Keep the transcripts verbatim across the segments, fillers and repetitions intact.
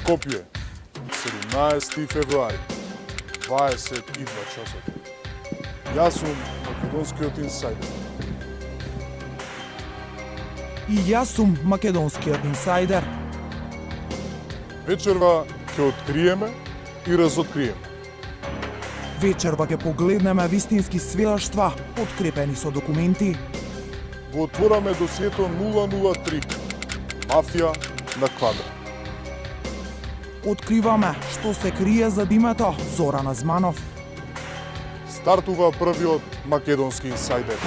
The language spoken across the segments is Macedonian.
Скопје, седумнаесети февруари, дваесет и два часот. Јас сум македонскиот инсайдер. И јас сум македонскиот инсайдер. Вечерва ќе откриеме и разоткриеме. Вечерва ќе погледнеме вистински свилаштва, подкрепени со документи. Го отвораме досието нула нула три. Мафија на квадрат. Откриваме што се крие за името Зоран Азманов. Стартува првиот македонски инсайдер.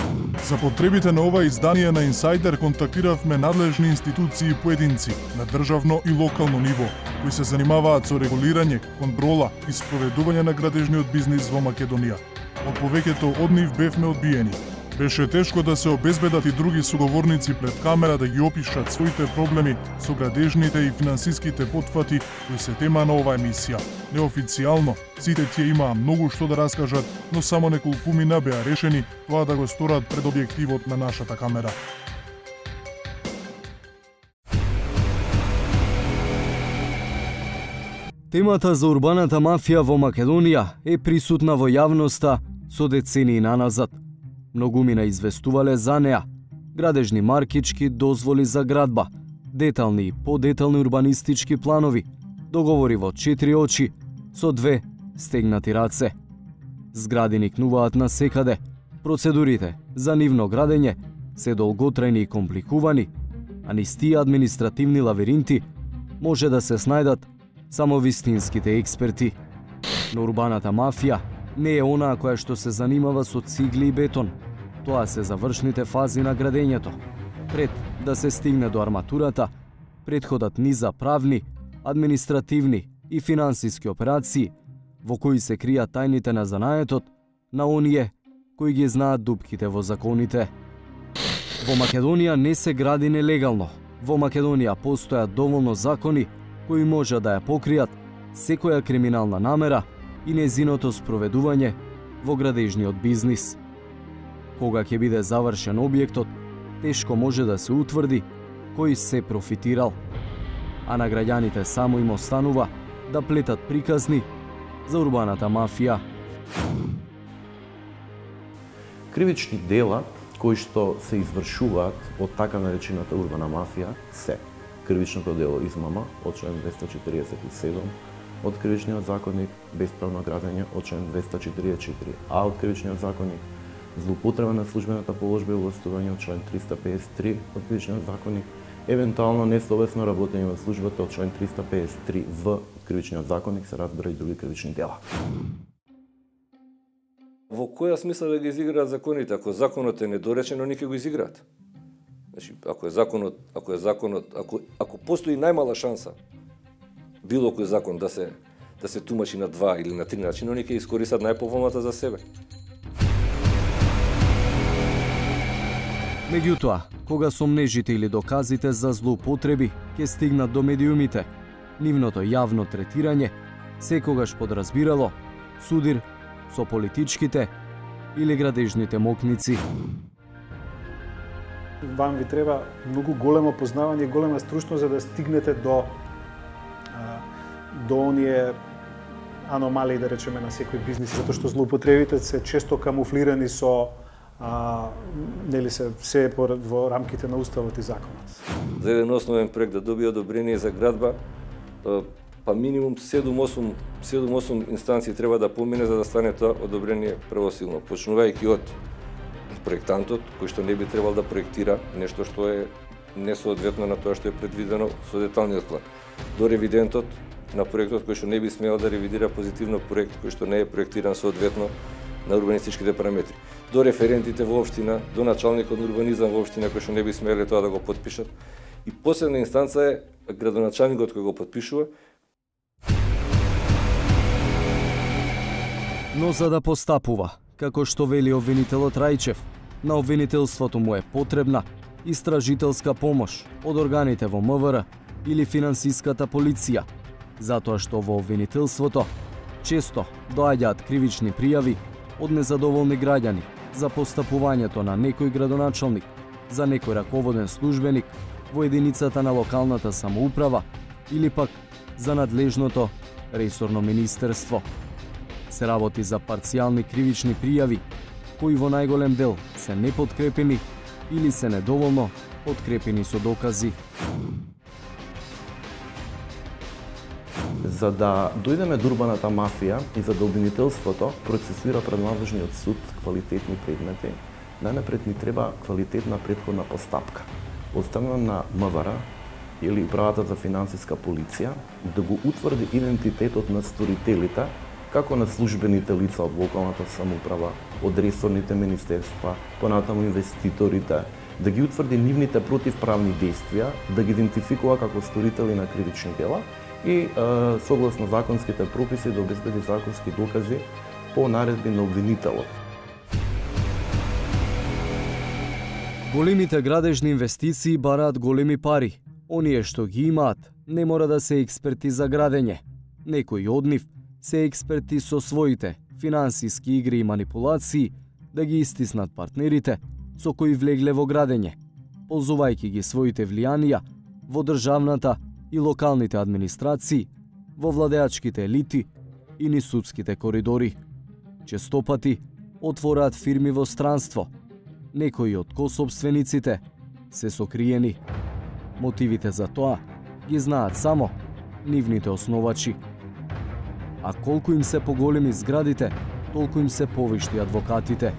За потребите на ова издание на Инсайдер контактиравме надлежни институции и поединци на државно и локално ниво, кои се занимаваат со регулирање, контрола и спроведување на градежниот бизнис во Македонија. Од повеќето од нив бевме одбиени. Беше тешко да се обезбедат и други суговорници пред камера да ги опишат своите проблеми со градежните и финансиските потфати кои се тема на оваа емисија. Неофицијално, сите тие имаа многу што да раскажат, но само неколкумина беа решени тоа да го сторат пред објективот на нашата камера. Темата за урбаната мафија во Македонија е присутна во јавноста со децении наназад. Многумина известувале за неа. Градежни маркички, дозволи за градба, детални и подетални урбанистички планови, договори во четири очи, со две стегнати раце. Згради никнуваат на секаде, процедурите за нивно градење се долготрајни и компликувани, а низ тие административни лавиринти може да се снајдат само вистинските експерти. Но урбаната мафија не е онаа која што се занимава со цигли и бетон. Тоа се завршните фази на градењето. Пред да се стигне до арматурата, предходат низа правни, административни и финансиски операции во кои се кријат тајните на занаетот на оние кои ги знаат дупките во законите. Во Македонија не се гради нелегално. Во Македонија постојат доволно закони кои може да ја покријат секоја криминална намера и незиното спроведување во градежниот бизнис. Кога ќе биде завршен објектот, тешко може да се утврди кој се профитирал, а на граѓаните само им останува да плетат приказни за урбаната мафија. Кривични дела кои што се извршуваат од така наречената урбана мафија се кривичното дело измама од член двеста четиридесет и седум, од Кривичниот законник бесправно градење од член двеста четиридесет и четири, а од Кривичниот законник злоупотреба на службената положба и властување од член триста педесет и три од Кривичниот законник, евентуално несовесно работење во службата од член триста педесет и три в Кривичниот законник се разбира и други кривични дела. Во која смисла да ги изиграат законите? Ако законот е недоречен, они ќе го изиграат. Значи, ако е законот, ако е законот, ако ако постои најмала шанса било кој закон да се да се тумачи на два или на три начини, они ќе искористат најповолната за себе. Меѓутоа, кога сомнежите или доказите за злоупотреби ќе стигнат до медиумите, нивното јавно третирање секогаш подразбирало судир со политичките или градежните мокници. Вам ви треба многу големо познавање и голема стручност за да стигнете до до оние аномалии, да речеме, на секој бизнис, затоа што злоупотребите се често камуфлирани со а, нели се се во рамките на уставот и законот. За еден основен проект да добие одобрение за градба, па минимум седум-осум седум-осум инстанции треба да помине за да стане тоа одобрение правосилно, почнувајќи од проектантот кој што не би требал да проектира нешто што е несоодветно на тоа што е предвидено со деталниот план, до ревидентот на проектот кој што не би смеел да ревидира позитивно проект кој што не е проектиран соодветно на урбанистичките параметри, до референтите во општина, до началникот на урбанизам во општина кој што не би смеле тоа да го потпишат. И последна инстанца е градоначалникот кој го потпишува. Но за да постапува, како што вели обвинителот Рајчев, на обвинителството му е потребна истражителска помош од органите во МВР или финансиската полиција, затоа што во обвинителството често доаѓаат кривични пријави од незадоволни граѓани за постапувањето на некој градоначалник, за некој раководен службеник во единицата на локалната самоуправа или пак за надлежното ресорно министерство. Се работи за парцијални кривични пријави, кои во најголем дел се непоткрепени или се недоволно подкрепени со докази. За да дојдеме до урбаната мафија и за да обвинителството процесира пред надлежниот суд квалитетни предмети, најнапред ни треба квалитетна претходна постапка, оставена на МВР или Управата за финансиска полиција да го утврди идентитетот на сторителите, како на службените лица од локалната самоуправа, од ресорните министерства, понатаму инвеститорите, да ги утврди нивните противправни действија, да ги идентификува како сторители на кривични дела и е, согласно законските прописи да обезбеди законски докази по наредби на обвинителот. Големите градежни инвестиции бараат големи пари. Оние што ги имаат не мора да се експерти за градење. Некои од нив се експерти со своите финансиски игри и манипулации да ги истиснат партнерите со кои влегле во градење, ползувајќи ги своите влијанија во државната и локалните администрации, во владеачките елити и низ судските коридори. Честопати отвораат фирми во странство. Некои од косопствениците се сокриени. Мотивите за тоа ги знаат само нивните основачи. А колку им се поголеми зградите, толку им се повишти адвокатите.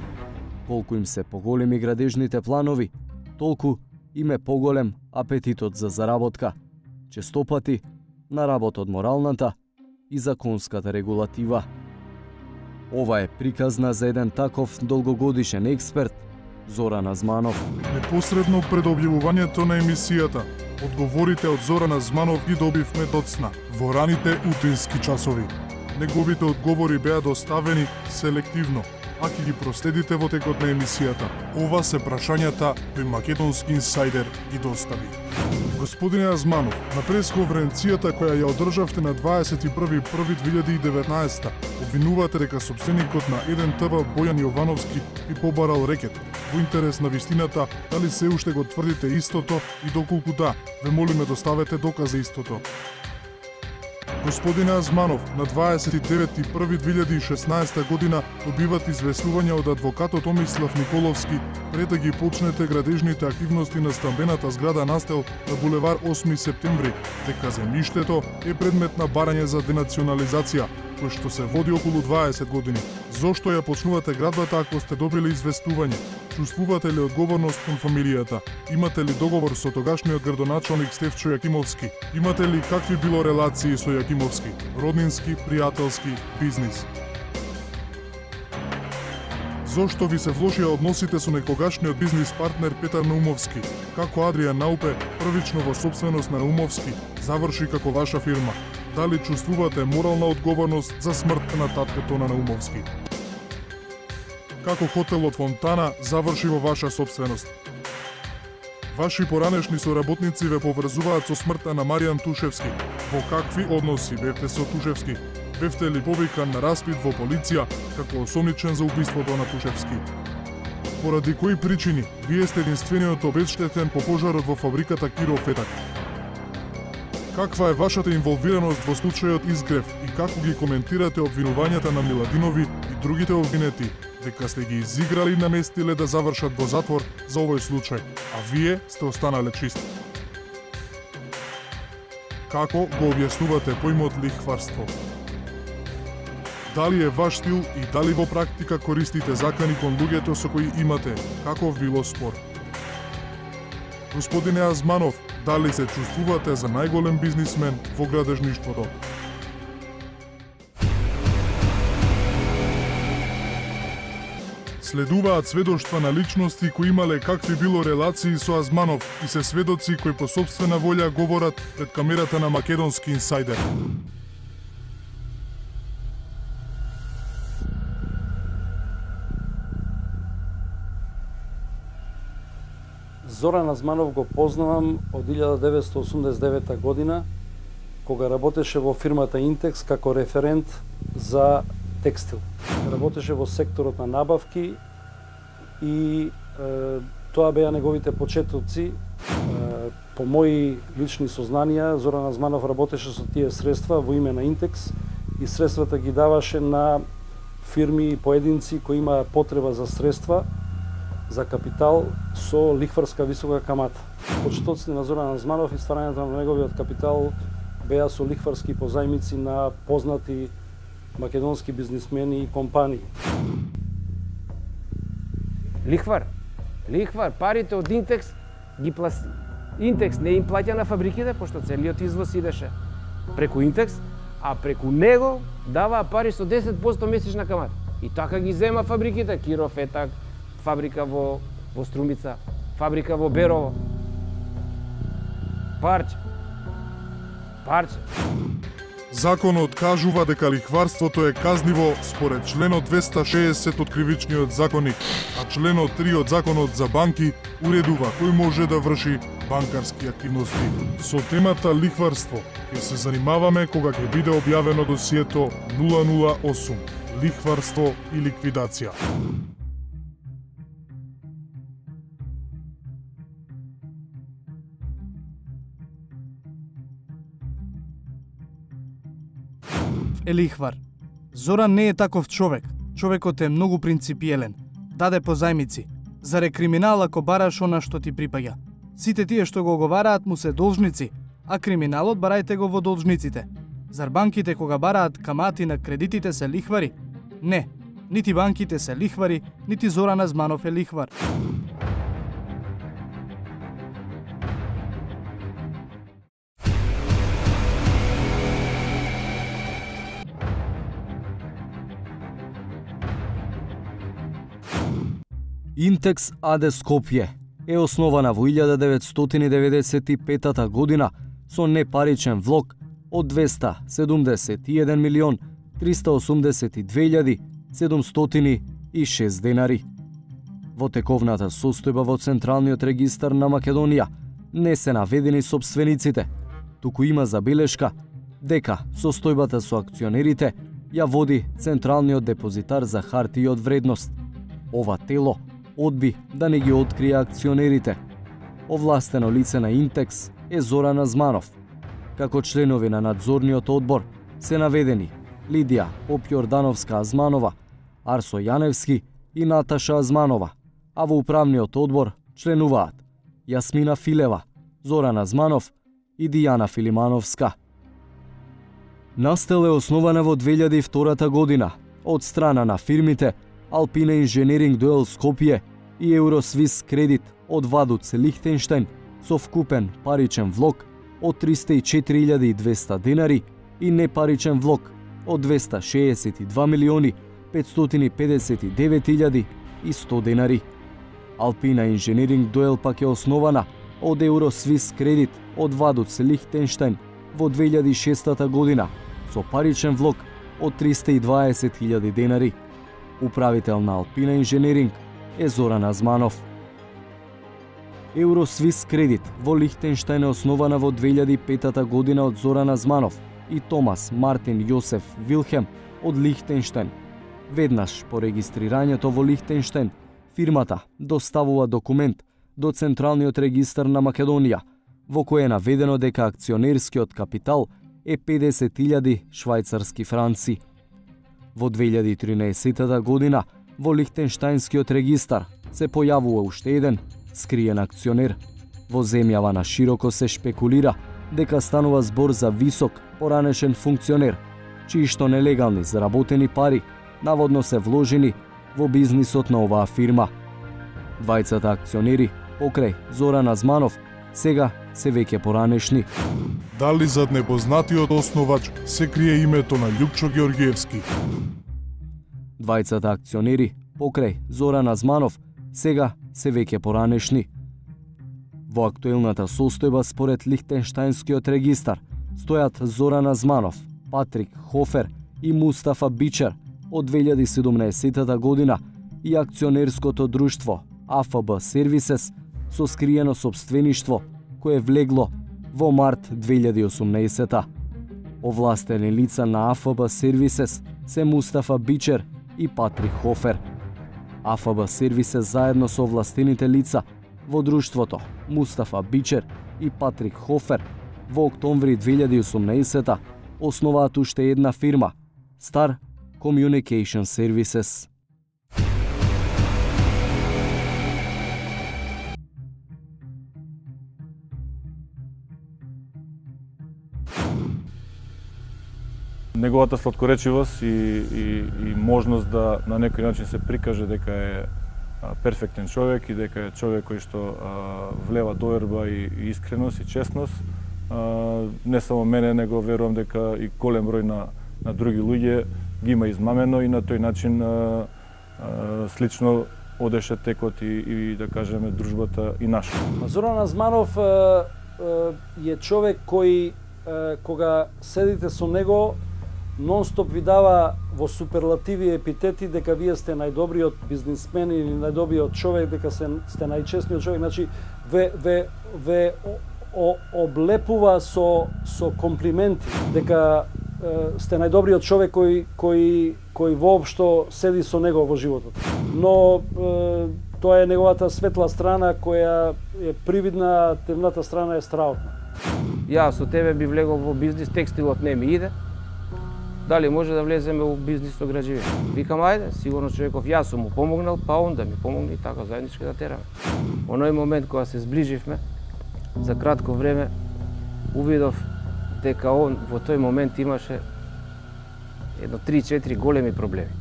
Колку им се поголеми градежните планови, толку им е поголем апетитот за заработка. Честопати на работ од моралната и законската регулатива. Ова е приказна за еден таков долгогодишен експерт, Зоран Азманов. Непосредно пред објавувањето на емисијата, одговорите од Зоран Азманов ги добивме доцна во раните утински часови. Неговите одговори беа доставени селективно, а ќе ги проследите во текот на емисијата. Ова се прашањата кои Македонски инсайдер ги достави. Господине Азманов, на пресконференцијата која ја одржавте на дваесет и први први две илјади и деветнаесета, обвинувате дека сопственикот на еден те ве Бојан Јовановски ви побарал рекет. Во интерес на вистината, дали се уште го тврдите истото и доколку да, ве молиме доставете доказ за истото. Господине Азманов, на дваесет и девети први две илјади и шеснаесета година добиват известување од адвокатот Томислав Николовски пред да ги почнете градежните активности на стамбената зграда Настел на булевар осми септември, дека земјиштето е предмет на барање за денационализација, кој што се води околу дваесет години. Зошто ја почнувате градбата ако сте добили известување? Чувствувате ли одговорност кон фамилијата? Имате ли договор со тогашниот градоначалник Стефчо Јакимовски? Имате ли какви било релации со Јакимовски? Роднински, пријателски, бизнис? Зошто ви се влошија односите со некогашниот бизнис партнер Петар Наумовски? Како Адријан Наупе, првично во собственост на Наумовски, заврши како ваша фирма? Дали чувствувате морална одговорност за смртта на таткото на Наумовски? Како хотелот Фонтана заврши во ваша собственост? Ваши поранешни соработници ве поврзуваат со смртта на Маријан Тушевски. Во какви односи бевте со Тушевски? Бевте ли повикан на распит во полиција како осомничен за убиството на Тушевски? Поради кои причини вие сте единствениот обезштетен по пожарот во фабриката Киро Фетак? Каква е вашата инволвираност во случајот Изгрев и како ги коментирате обвинувањата на Миладинови и другите обвинети дека сте ги изиграли и наместиле да завршат во затвор за овој случај, а вие сте останале чисти? Како го објаснувате поимот лихварство? Дали е ваш стил и дали во практика користите закани кон луѓето со кои имате каков било спор? Господине Азманов, дали се чувствувате за најголем бизнисмен во градежништвото? Следуваат сведоштва на личности кои имале какви било релации со Азманов и се сведоци кои по собствена волја говорат пред камерата на Македонски инсайдер. Зоран Азманов го познавам од илјада деветстотини осумдесет и девета година, кога работеше во фирмата Интекс како референт за текстил. Работеше во секторот на набавки и е, тоа беа неговите почетоци. Е, По мои лични сознанија, Зоран Азманов работеше со тие средства во име на Интекс и средствата ги даваше на фирми и поединци кои имаа потреба за средства, за капитал со лихварска висока камата. Почетоците на Зоран Азманов и стварањето на неговиот капитал беа со лихварски позајмици на познати македонски бизнисмени и компании. Лихвар, лихвар, парите од Интекс ги пласи. Интекс не им плаќа на фабриките, пошто целиот извоз идеше преку Интекс, а преку него даваа пари со десет проценти месечна камата. И така ги зема фабриките, Киров, Етак, фабрика во, во Струмица, фабрика во Берово. Парче. Парче. Законот кажува дека лихварството е казниво според членот двеста шеесет од Кривичниот законник, а членот три од Законот за банки уредува кој може да врши банкарски активности. Со темата лихварство ќе се занимаваме кога ќе биде објавено досието нула нула осум лихварство и ликвидација. Е лихвар. Зоран не е таков човек. Човекот е многу принципиелен. Даде позајмици. Заре криминал ако бараш она што ти припаѓа. Сите тие што го оговараат му се должници, а криминалот барајте го во должниците. Зар банките кога бараат камати на кредитите се лихвари? Не. Нити банките се лихвари, нити Зоран Азманов е лихвар. Интекс АД Скопје е основана во илјада деветстотини деветдесет и петата година со непаричен влог од двеста седумдесет и еден милион триста осумдесет и две илјади седумстотини и шест денари. Во тековната состојба во Централниот регистар на Македонија не се наведени сопствениците, туку има забелешка дека состојбата со акционерите ја води Централниот депозитар за хартии од вредност. Ова тело одби да не ги открие акционерите. Овластено лице на Интекс е Зоран Азманов. Како членови на надзорниот одбор се наведени Лидија Попјордановска Азманова, Арсо Јаневски и Наташа Азманова, а во управниот одбор членуваат Јасмина Филева, Зоран Азманов и Дијана Филимановска. Настел е основана во две илјади и втората година од страна на фирмите Алпина Инженеринг Дуел Скопје и Евросвис Кредит од Вадуц Лихтенштеин со вкупен паричен влог од триста и четири илјади и двеста денари и непаричен влог од двеста шеесет и два милиони петстотини педесет и девет илјади и сто денари. Алпина Инженеринг Дуел пак е основана од Евросвис Кредит од Вадуц Лихтенштеин во две илјади и шестата година со паричен влог од триста и дваесет илјади денари. Управител на Алпина Инженеринг е Зоран Азманов. Евросвис Кредит во Лихтенштеин е основана во две илјади и петата година од Зоран Азманов и Томас Мартин Јосеф Вилхем од Лихтенштеин. Веднаш по регистрирањето во Лихтенштеин, фирмата доставува документ до Централниот регистар на Македонија, во кој е наведено дека акционерскиот капитал е педесет илјади швајцарски франци. Во две илјади и тринаесетата година во Лихтенштаинскиот регистар се појавува уште еден скриен акционер. Во земјава на широко се шпекулира дека станува збор за висок поранешен функционер, чии што нелегални заработени пари наводно се вложени во бизнисот на оваа фирма. Двајцата акционери покрај Зоран Азманов сега се веќе поранешни. Дали зад непознатиот основач се крие името на Љупчо Ѓорѓиевски? Двајцата акционери покрај Зоран Азманов сега се веќе поранешни. Во актуелната состојба според Лихтенштаинскиот регистар стојат Зоран Азманов, Патрик Хофер и Мустафа Бичер од две илјади и седумнаесетата година и акционерското друштво А Ф Б Сервисес со скриено сопствеништво кое влегло во март две илјади и осумнаесета. Овластени лица на А Ф Б Сервисес се Мустафа Бичер и Патрик Хофер. А Ф Б Сервисес заедно со овластените лица Во друштвото Мустафа Бичер и Патрик Хофер во октомври две илјади и осумнаесета основаат уште една фирма, Star Communication Services. Неговата сладкоречивост и, и, и можност да на некој начин се прикаже дека е а, перфектен човек и дека е човек кој што а, влева доверба и, и искреност и честност, а, не само мене, него верувам дека и голем број на, на други луѓе ги има измамено и на тој начин а, а, слично одеше текот и, и да кажеме дружбата и наша. Зоран Азманов е човек кој кога седите со него нон-стоп ви дава во суперлативи и епитети дека вие сте најдобриот бизнисмен или најдобриот човек, дека се, сте најчестниот човек, значи ве, ве, ве о, облепува со, со комплименти, дека е, сте најдобриот човек кој, кој, кој воопшто седи со него во животот. Но е, тоа е неговата светла страна која е привидна, темната страна е страотна. Јас со тебе би влегол во бизнис, текстилот не ми иде. Дали може да влеземе во бизнис со граđевина? Викам, ајде, сигурно човеков, јас сум му помогнал, па он да ми помогне и така заеднички да тераме. Оној момент кога се зближивме, за кратко време, увидов дека он во тој момент имаше едно три-четири големи проблеми.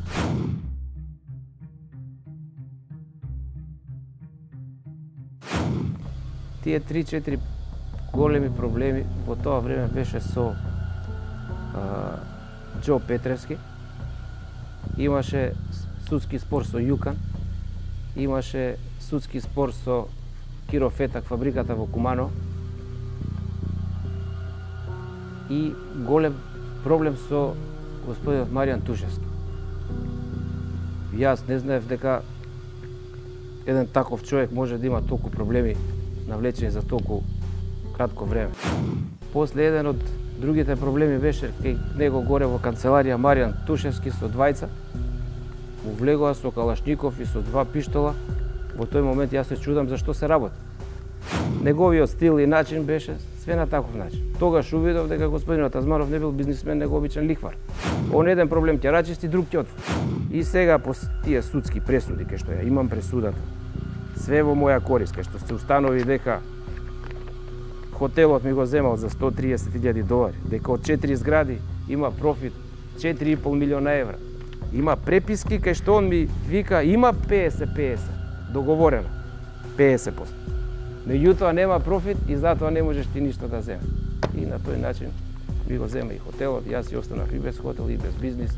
Тие три-четири големи проблеми во тоа време беше со а, Џо Петревски, имаше судски спор со Јукан, имаше судски спор со Киро Фетак, фабриката во Кумано и голем проблем со господинот Маријан Тушевски. Јас не знаев дека еден таков човек може да има толку проблеми навлечени за толку кратко време. После еден од другите проблеми беше кај него горе во канцеларија Маријан Тушевски со двајца, му влегоа со калашников и со два пиштола. Во тој момент јас се чудам зашто се работи. Неговиот стил и начин беше све на таков начин. Тогаш увидов дека господинот Азманов не бил бизнисмен, него обичен лихвар. Он еден проблем ќе рачисти, друг ќе отвори. И сега по тие судски пресуди, кај што ја имам пресудата, све во моја корист, кај што се установи дека хотелот ми го земал за сто и триесет илјади долари, дека од четири згради има профит четири и пол милиона евра. Има преписки кај што он ми вика има петдесет петдесет, договорено, петдесет проценти. Меѓутоа нема профит и затоа не можеш ти ништо да земе. И на тој начин ми го зема и хотелот, јас си останав и без хотел и без бизнис.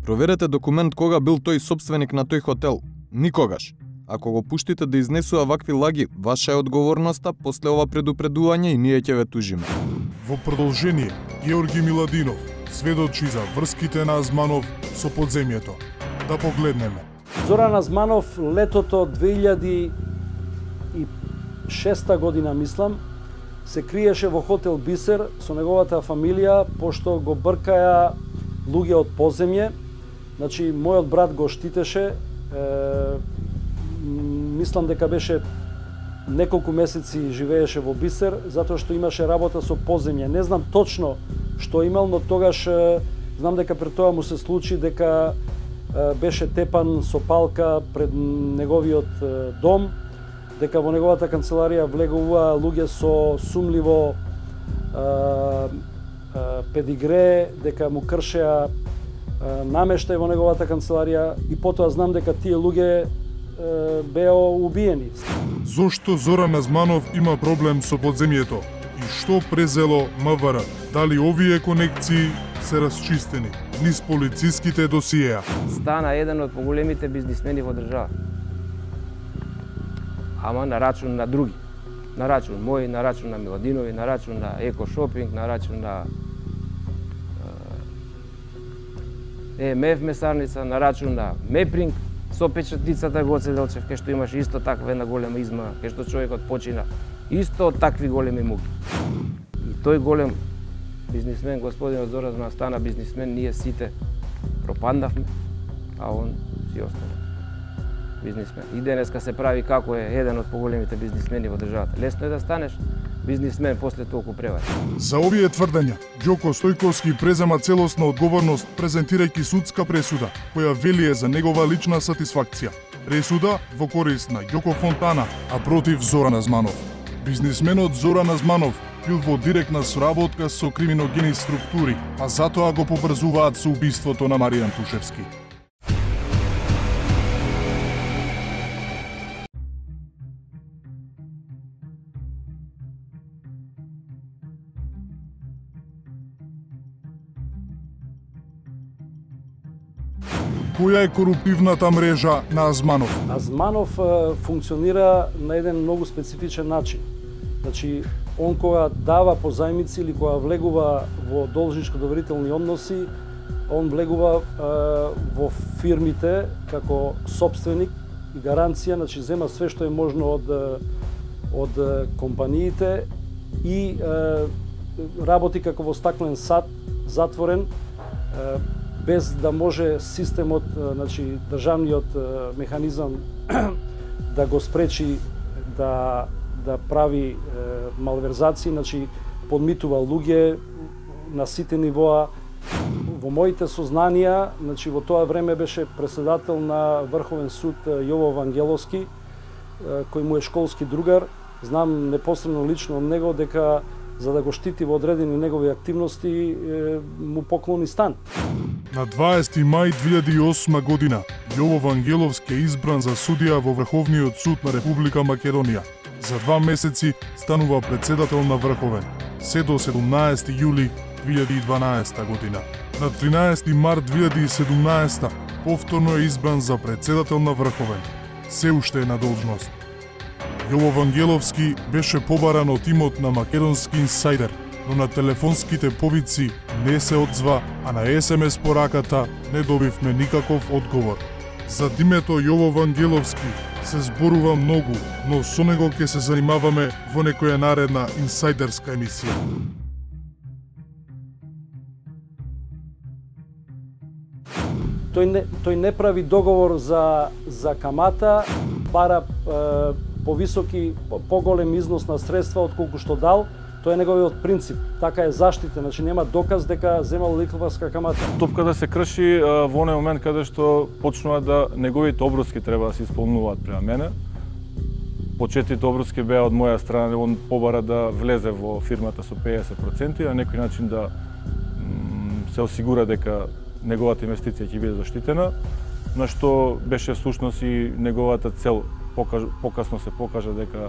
Проверете документ кога бил тој собственик на тој хотел. Никогаш. Ако го пуштите да изнесува вакви лаги, ваша е одговорноста после ова предупредување и ние ќе ве тужиме. Во продолжение, Георги Миладинов сведочи за врските на Азманов со подземјето. Да погледнеме. Зоран Азманов летото две илјади и шеста година, мислам, се криеше во хотел Бисер со неговата фамилија, пошто го бркаја луѓе од поземје. Значи, мојот брат го штитеше, е, мислам дека беше неколку месеци живееше во Бисер, затоа што имаше работа со поземје. Не знам точно што имал, но тогаш е, знам дека пред тоа му се случи дека е, беше тепан со палка пред неговиот е, дом, дека во неговата канцеларија влегуваа луѓе со сумливо е, е, педигре, дека му кршеа е, намештај во неговата канцеларија и потоа знам дека тие луѓе беа убиени. Зошто Зоран Азманов има проблем со подземјето и што презело МВР? Дали овие конекции се расчистени низ полициските досиеа? Стана еден од поголемите бизнисмени во држава. Ама на рачун на други. На рачун мој, на рачун на Миладинови, на рачун на Еко Шопинг, на рачун на Е Ем Еф месарница, на рачун на Мепринг, со печатницата Гоце Делчев, кај што имаше исто таква една голема измама, кај што човекот почина исто од такви големи муки. И тој голем бизнисмен, господинот Зоран Азманов, стана бизнисмен, ние сите пропандавме, а он си остана. бизнисмен. И денеска се прави како е еден од поголемите бизнисмени во државата. Лесно е да станеш бизнисмен после толку превари. За овие тврдења, Ѓоко Стојковски презема целосна одговорност презентирајќи судска пресуда, која велие за негова лична сатисфакција. Пресуда во корист на Ѓоко Фонтана, а против Зоран Азманов. Бизнисменот Зоран Азманов бил во директна соработка со криминогени структури, а затоа го поврзуваат со убиството на Маријан Тушевски. Која е коруптивната мрежа на Азманов? Азманов е, функционира на еден многу специфичен начин. Значи, он кога дава позајмици или кога влегува во должничко-доверителни односи, он влегува е, во фирмите како собственик и гаранција, значи зема све што е можно од од компаниите и е, работи како во стаклен сад, затворен, е, без да може системот, значи државниот механизам да го спречи да да прави е, малверзации, значи подмитува луѓе на сите нивоа. Во моите сознанија, значи во тоа време беше председател на Врховен суд Јово Вангеловски, кој му е школски другар. Знам непосредно лично од него дека за да го штити во одредени негови активности му поклони стан. На дваесети мај две илјади и осма година Јово Вангеловски е избран за судија во Врховниот суд на Република Македонија. За два месеци станува председател на Врховен, се до седумнаесети јули две илјади и дванаесета година. На тринаесети март две илјади и седумнаесета повторно е избран за председател на Врховен, се уште е на должност. Јово Вангеловски беше побаран од имот на Македонски инсайдер, но на телефонските повици не се одзва, а на ес ем ес пораката не добивме никаков одговор. За името Јово Вангеловски се зборува многу, но со него ќе се занимаваме во некоја наредна инсайдерска емисија. Тој не, тој не прави договор за, за камата, бара е, повисоки, поголем износ на средства од колку што дал. Тоа е неговиот принцип. Така е заштитен, значи нема доказ дека земал лихварска камата. Топката се крши во оној момент каде што почнува да неговите обврски треба да се исполнуваат према мене. Почетите обврски беа од моја страна, он побара да влезе во фирмата со педесет проценти, на некој начин да се осигура дека неговата инвестиција ќе биде заштитена, на што беше всушност и неговата цел. Покасно се покажа дека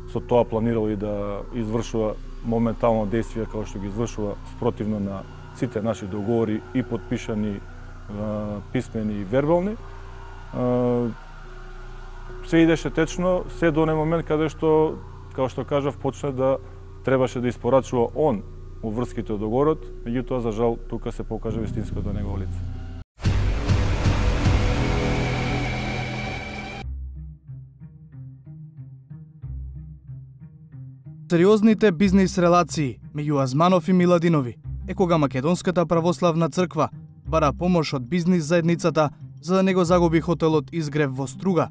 со тоа планирал и да извршува моментално действија како што ги извршува спротивно на сите наши договори и подпишани писмени и вербални. Се идеше течно, се до оној момент каде што, како што кажав, почна да требаше да испорачува он уврските од договорот, меѓутоа за жал тука се покажа вистинското негово лице. Сериозните бизнис релации меѓу Азманов и Миладинови е кога Македонската православна црква бара помош од бизнис заедницата за да не го загуби хотелот Изгрев во Струга.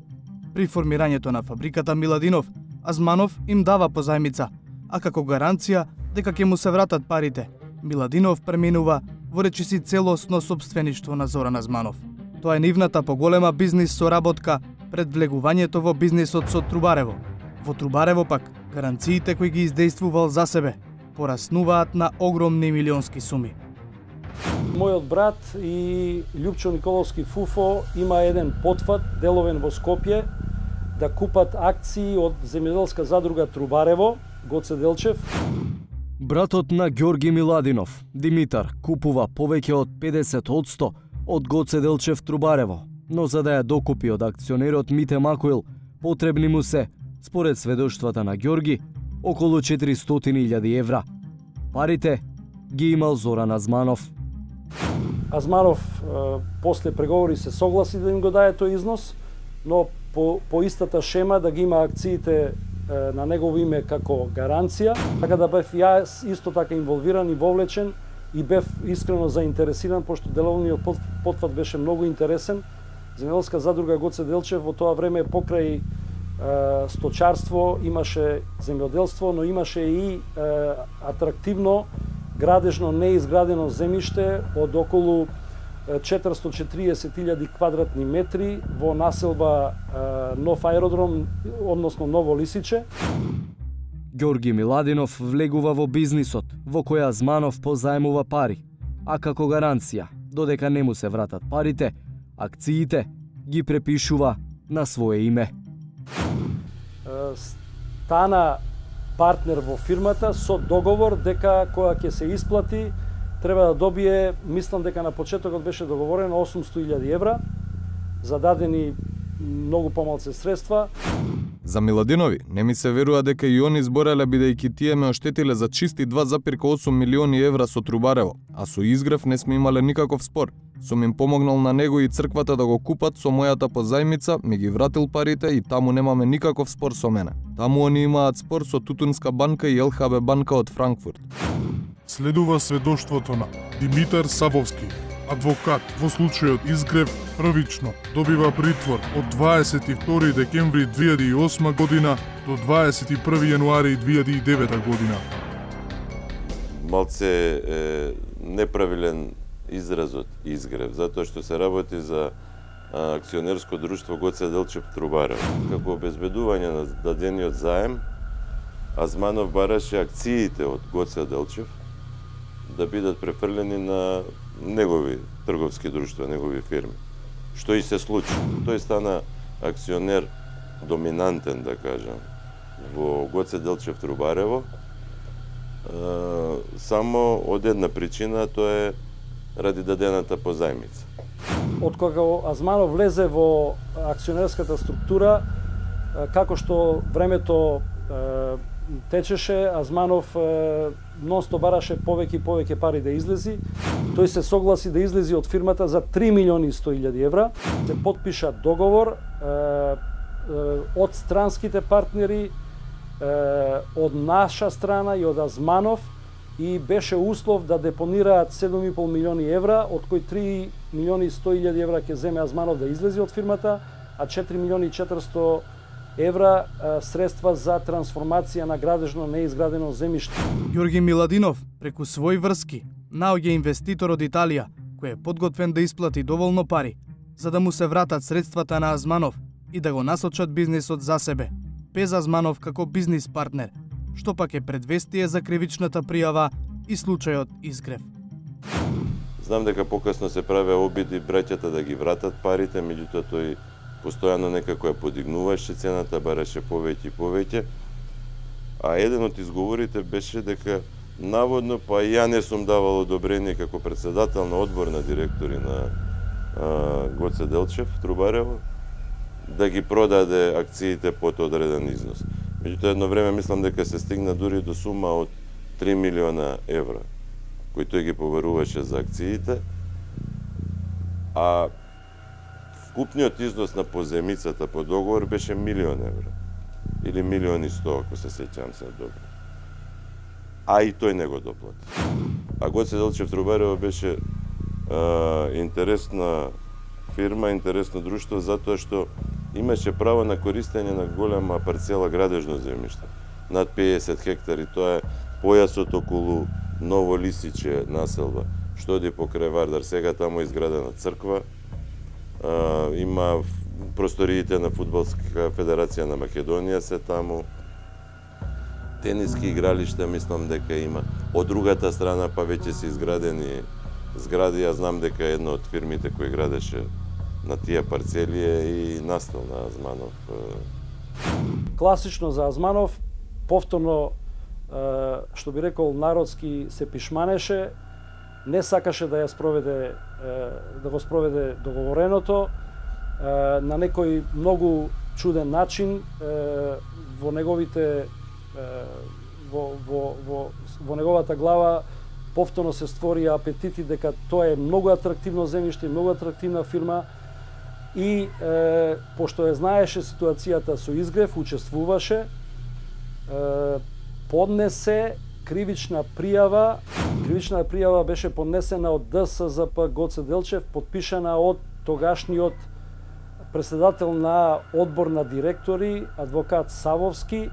При формирањето на фабриката Миладинов, Азманов им дава позајмица, а како гаранција дека ќе му се вратат парите, Миладинов преминува во речиси целосно сопствеништво на Зоран Азманов. Тоа е нивната поголема бизнис соработка пред влегувањето во бизнисот со Трубарево. Во Трубарево пак, гаранциите кои ги издействувал за себе пораснуваат на огромни милионски суми. Мојот брат и Љупчо Николовски Фуфо има еден потфат деловен во Скопје да купат акции од земјоделска задруга Трубарево, Гоце Делчев. Братот на Ѓорги Миладинов, Димитар, купува повеќе од педесет одсто од Гоце Делчев Трубарево, но за да ја докупи од акционерот Мите Макоил, потребни му се, според сведоштвата на Ѓорги, околу четиристотини илјади евра. Парите ги имал Зоран Азманов. Азманов е, после преговори се согласи да им го даде тој износ, но по, по истата шема да ги има акциите е, на негово име како гаранција, така да бев јас исто така инволвиран и вовлечен и бев искрено заинтересиран, пошто деловниот потфат беше многу интересен Земјоделска задруга Гоце Делчев во тоа време покрај сточарство имаше земјоделство, но имаше и атрактивно градежно неизградено земјиште од околу четиристотини и четириесет илјади квадратни метри во населба Нов аеродром, односно Ново Лисиче. Ѓорги Миладинов влегува во бизнисот, во која Азманов позаемува пари, а како гаранција, додека не му се вратат парите, акциите ги препишува на свое име. Стана партнер во фирмата со договор дека кога ќе се исплати треба да добие, мислам дека на почетокот беше договорено осумстотини илјади евра, за дадени многу помалце средства. За Миладинови не ми се верува дека и они збореле бидејќи тие ме оштетиле за чисти два запирка осум милиони евра со Трубарево, а со Изгрев не сме имале никаков спор. Сум им помогнал на него и црквата да го купат со мојата позајмица, ми ги вратил парите и таму немаме никаков спор со мене. Таму они имаат спор со Тутунска банка и Ел Ха Бе банка од Франкфурт. Следува сведоштвото на Димитар Савовски, адвокат во случајот Изгрев, првично добива притвор од дваесет и втори декември две илјади и осма година до дваесет и први јануари две илјади и девета година. Малце е неправилен изразот Изгрев, затоа што се работи за акционерско друштво Гоце Делчев Трубарево. Како обезбедување на дадениот заем, Азманов бараше акциите од Гоце Делчев да бидат префрлени на негови трговски друштва, негови фирми. Што и се случи. Тој стана акционер доминантен, да кажам, во Гоце Делчев Трубарево, само од една причина, тоа е ради дадената позајмица. Од кога Азманов влезе во акционерската структура, како што времето течеше, Азманов нонстоп бараше повеќе и повеќе пари да излези. Тој се согласи да излези од фирмата за три милиони и сто илјади евра. Се потпиша договор од странските партнери, од наша страна и од Азманов, и беше услов да депонираат седум и пол милиони евра, од кои три милиони и сто илјади евра ќе земе Азманов да излези од фирмата, а четири милиони и четиристо евра средства за трансформација на градежно неизградено земјиште. Ѓорги Миладинов, преку своји врски, наоѓа инвеститор од Италија, кој е подготвен да исплати доволно пари, за да му се вратат средствата на Азманов и да го насочат бизнисот за себе, без Азманов како бизнис партнер, што пак е предвестие за кривичната пријава и случајот Изгрев. Знам дека покасно се праве обиди браќата да ги вратат парите, меѓутоа тој постојано некако ја подигнуваше цената, бараше повеќе и повеќе. А еден од изговорите беше дека наводно па ја не сум давал одобрение како председател на одбор на директори на а, Гоце Делчев Трубарево да ги продаде акциите под одреден износ. Меѓутоа едно време мислам дека се стигна дури до сума од три милиона евра кои тој ги поверуваше за акциите, а вкупниот износ на поземицата по договор беше милион евра. Или милион и сто, ако се сеќавам се добро. А и тој не го доплати. А Гоце Делчев Трубарево беше а, интересна фирма, интересно друштво, затоа што имаше право на користење на голема парцела градежно земјиште. Над педесет хектари, тоа е појасот околу Ново Лисиче населба, што оди покрај Вардар. Сега таму е изградена црква, а, има просториите на Фудбалска федерација на Македонија се таму, тениски игралишта мислам дека има. Од другата страна па веќе се изградени згради, ја знам дека една од фирмите кои градеше на тие парцели е и настал на Азманов. Класично за Азманов, повторно, што би рекол народски, се пишманеше, не сакаше да ја спроведе, да го спроведе договореното, на некој многу чуден начин во неговите во, во, во, во неговата глава повторно се створи апетити дека тоа е многу атрактивно земјиште, многу атрактивна фирма и е, пошто ја знаеше ситуацијата со Изгрев, учествуваше, е, поднесе кривична пријава. Кривична пријава беше поднесена од Д С З П Гоце Делчев, подпишана од тогашниот председател на одбор на директори, адвокат Савовски,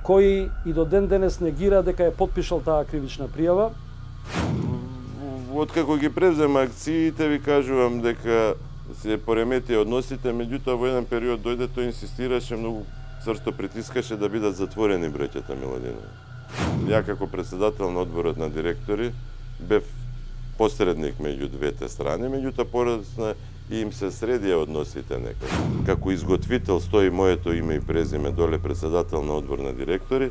кој и до ден денес негира дека е потпишал таа кривична пријава. Откако ги превзема акциите, ви кажувам дека се пореметија односите, меѓутоа во еден период дојде тој инсистираше, многу цврсто притискаше да бидат затворени браќата Миладинови. Ја како председател на одборот на директори бев посредник меѓу двете страни, меѓутоа порасна и им се средија односите некако. Како изготвител стои моето име и презиме доле председател на одбор на директори,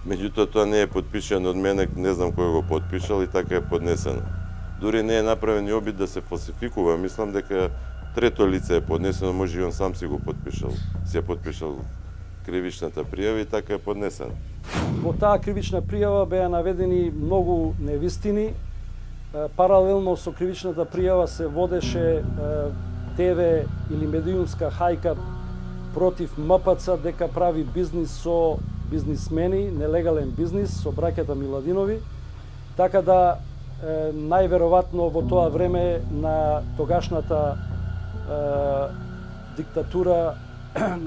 меѓутоа тоа не е подпишано од мене, не знам кој го подпишал и така е поднесено. Дури не е направен и обид да се фалсификува, мислам дека трето лице е поднесено, може и он сам си го подпишал, си е подпишал кривичната пријава и така е поднесена. Во таа кривична пријава беа наведени многу невистини. Паралелно со кривичната пријава се водеше ТВ или медиумска хајка против МПЦ дека прави бизнис со бизнисмени, нелегален бизнис со браќата Миладинови. Така да најверојатно во тоа време на тогашната диктатура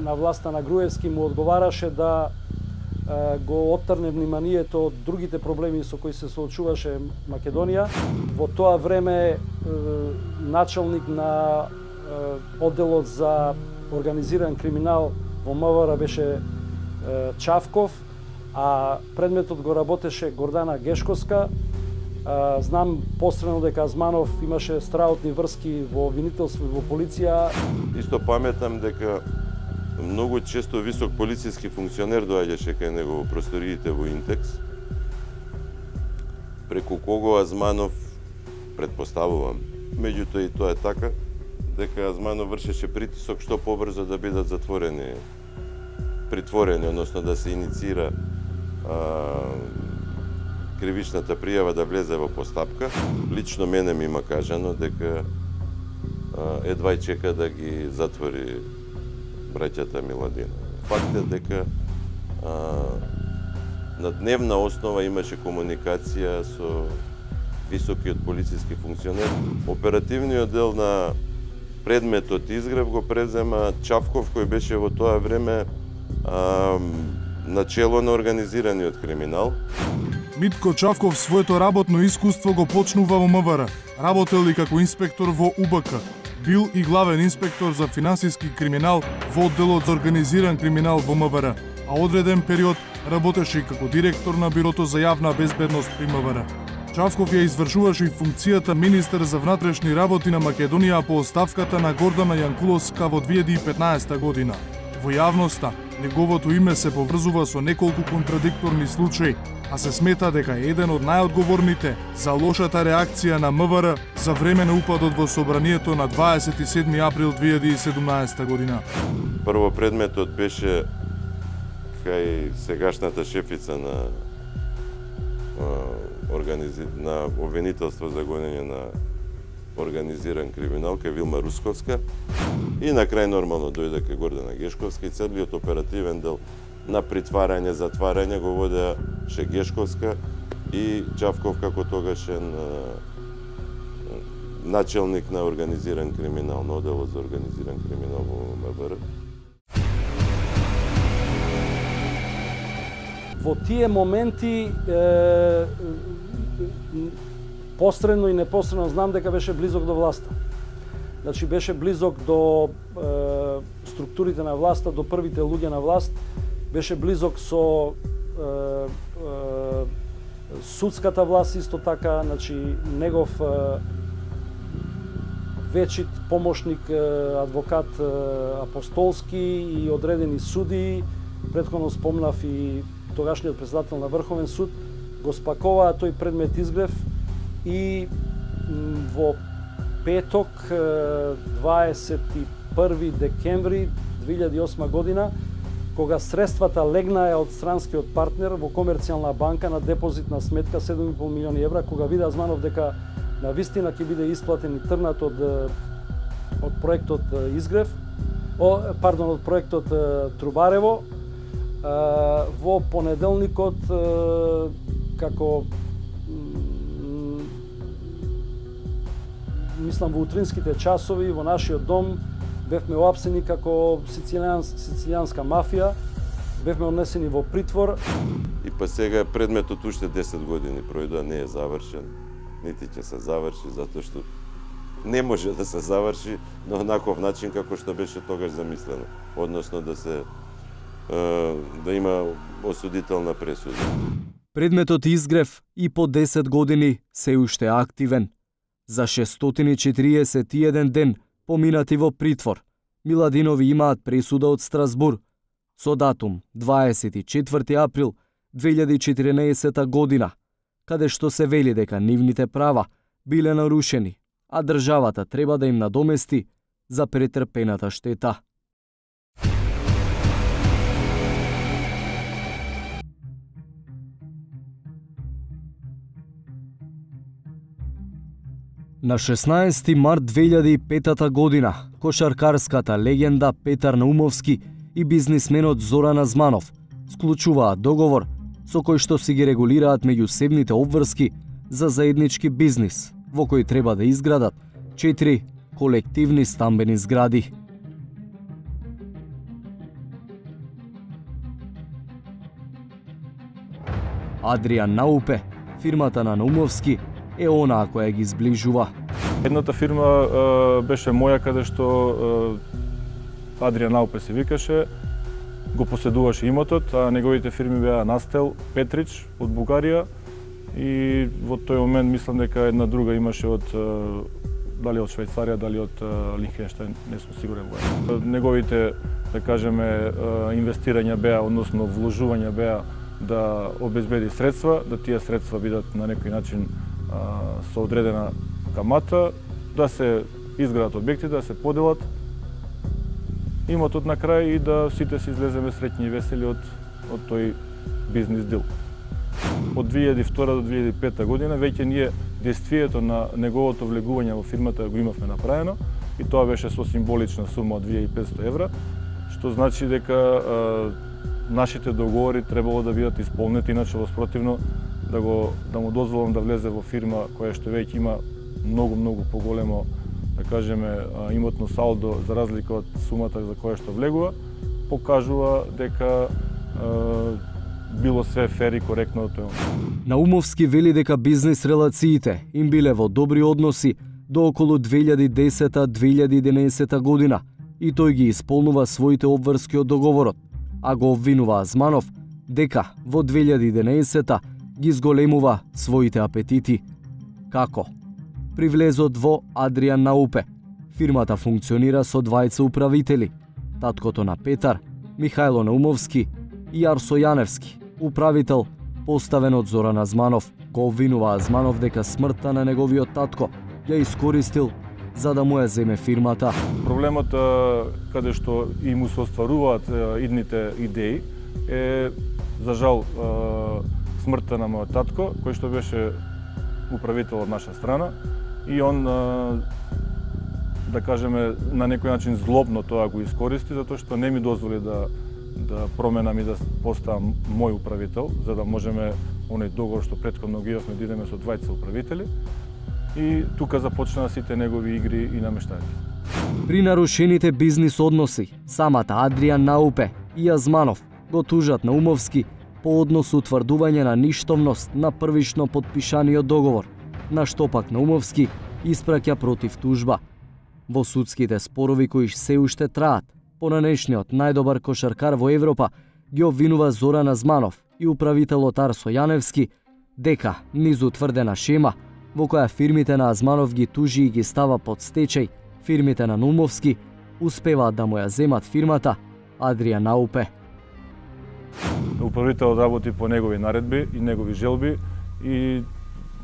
на власта на Груевски му одговараше да го оттрне вниманието од другите проблеми со кои се соочуваше Македонија. Во тоа време началник на одделот за организиран криминал во МВР беше Чавков, а предметот го работеше Гордана Гешковска. Знам посредно дека Азманов имаше страотни врски во обвинителство и во полиција. Исто паметам дека многу често висок полициски функционер доаѓаше кај него во просториите во Интекс, преку кого Азманов, предпоставувам, меѓутоа и тоа е така, дека Азманов вршеше притисок што побрзо да бидат затворени, притворени, односно да се иницира а, кривичната пријава да влезе во постапка. Лично мене ми има кажано дека а, едва чека да ги затвори браќата Миладинови. Факт е дека а, на дневна основа имаше комуникација со високиот полициски функционер. Оперативниот дел на предметот изгрев го презема Чавков, кој беше во тоа време а, начело на организираниот криминал. Митко Чавков своето работно искуство го почнува во МВР. Работел и како инспектор во УБК. Бил и главен инспектор за финансиски криминал во одделот за организиран криминал во МВР, а одреден период работеше и како директор на Бирото за јавна безбедност при МВР. Чавков ја извршуваше и функцијата министер за внатрешни работи на Македонија по оставката на Гордана Јанкуловска во две илјади и петнаесета година. Во јавноста, неговото име се поврзува со неколку контрадикторни случаи, а се смета дека е еден од најодговорните за лошата реакција на МВР за време на упадот во собранието на дваесет и седми април две илјади и седумнаесета година. Прво предметот беше кај сегашната шефица на организи... на обвинителство за гонење на организиран криминал, кај Вилма Русковска, и на крај нормално дојде кај Гордана Гешковска и целиот оперативен дел на притварање, затварање го водеше Гешковска и Чавков како тогашен начелник на организиран криминал, на одделот за организиран криминал во МВР. Во тие моменти е, посредно и непосредно знам дека беше близок до власта. Значи беше близок до е, структурите на власта, до првите луѓе на власт, беше близок со е, е, судската власт исто така, значи негов е, вечит помошник е, адвокат е, Апостолски и одредени суди, претходно спомнав и тогашниот председател на Врховен суд, го спаковаа тој предмет изгрев и во петок дваесет и први декември две илјади и осма година, кога средствата легнаа од странскиот партнер во комерцијална банка на депозитна сметка седум и пол милиони евра, кога вида Азманов дека на вистина ќе биде исплатен и трнат од од проектот Изгрев, о, пардон, од проектот Трубарево, во понеделникот како мислам во утринските часови во нашиот дом бевме оапсени како сицилијанс, сицилијанска мафија, бевме однесени во притвор. И па сега предметот уште десет години пројдоа, не е завршен, нити ќе се заврши, затоа што не може да се заврши на онаков начин како што беше тогаш замислено, односно да се да има осудителна пресуда. Предметот изгрев и по десет години се уште активен. За шестстотини и четириесет и еден ден поминати во притвор, Миладинови имаат пресуда од Страсбур со датум дваесет и четврти април две илјади и четиринаесета година, каде што се вели дека нивните права биле нарушени, а државата треба да им надомести за претрпената штета. На шеснаесети март две илјади и петата година, кошаркарската легенда Петар Наумовски и бизнисменот Зоран Азманов склучуваат договор со кој што си ги регулираат меѓусебните обврски за заеднички бизнис, во кој треба да изградат четири колективни стамбени згради. Адријан Наупе, фирмата на Наумовски, е онаа која ги зближува. Едната фирма е, беше моја, каде што е, Адријан Наупе се викаше, го поседуваше имотот, а неговите фирми беа Настел, Петрич од Бугарија и во тој момент мислам дека една друга имаше од дали од Швајцарија, дали од Лихтенштајн, не сум сигурен во. Неговите, да кажеме, инвестирања беа, односно вложувања беа да обезбеди средства, да тие средства бидат на некој начин со одредена камата, да се изградат објекти, да се поделат имотот на крај и да сите се излеземе среќни и весели од, од тој бизнис дил. Од две илјади и втора до две илјади и пета година веќе ние действието на неговото влегување во фирмата го имавме направено и тоа беше со символична сума од две илјади и петстотини евра, што значи дека а, нашите договори требало да бидат исполнети, иначе во спротивно да го да му дозволам да влезе во фирма која што веќе има многу многу поголемо, да кажеме, имотно салдо за разлика од сумата за која што влегува, покажува дека е, било све фер и коректно од тоа. Наумовски вели дека бизнис релациите им биле во добри односи до околу две илјади и десета - две илјади и единаесета година и тој ги исполнува своите обврски од договорот, а го обвинува Азманов дека во две илјади и единаесета ги зголемува своите апетити. Како? Привлезот во Адријан Наупе. Фирмата функционира со двајца управители. Таткото на Петар, Михајло Наумовски и Арсо Јаневски, управител поставен од Зоран Азманов. Го обвинува Азманов дека смртта на неговиот татко ја искористил за да му ја земе фирмата. Проблемот каде што и му се остваруваат идните идеи е, за жал, смртта на мојот татко, кој што беше управител од наша страна и он, да кажеме, на некој начин злобно тоа го искористи, затоа што не ми дозволи да да променам и да поставам мој управител, за да можеме оној договор што претходно ги имавме да идеме со двајца управители. И тука започнаа сите негови игри и намештања. При нарушените бизнис односи, самата Адријан Наупе и Азманов го тужат Наумовски по однос утврдување на ништовност на првично подпишаниот договор, на што пак Наумовски испраќа против тужба. Во судските спорови кои се уште траат, понанешниот најдобар кошаркар во Европа ги обвинува Зоран Азманов и управителот Арсо Јаневски дека низ утврдена шема во која фирмите на Азманов ги тужи и ги става под стечај, фирмите на Наумовски успеваат да му ја земат фирмата Адријан Наупе. Управителот работи по негови наредби и негови желби и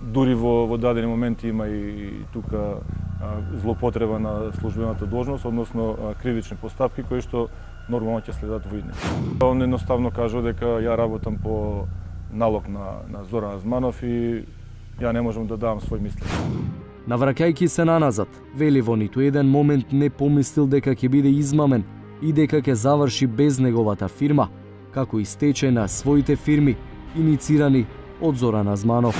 дури во, во дадени моменти има и, и тука а, злоупотреба на службената должност, односно а, кривични постапки кои што нормално ќе следат во иднина. Он едноставно кажа дека ја работам по налог на, на Зоран Азманов и ја не можам да давам свој мисли. Навраќајќи се наназад, вели во ниту еден момент не помислил дека ќе биде измамен и дека ќе заврши без неговата фирма, како и стечај на своите фирми, иницирани од Зоран Азманов.